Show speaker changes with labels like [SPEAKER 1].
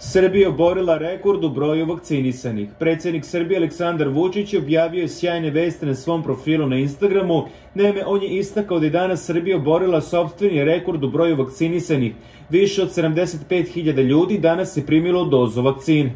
[SPEAKER 1] Srbija oborila rekord u broju vakcinisanih. Predsjednik Srbije Aleksandar Vučić objavio je sjajne vesti na svom profilu na Instagramu. Naime, on je istakao da je danas Srbija oborila sopstveni rekord u broju vakcinisanih. Više od 75.000 ljudi danas je primilo dozu vakcine.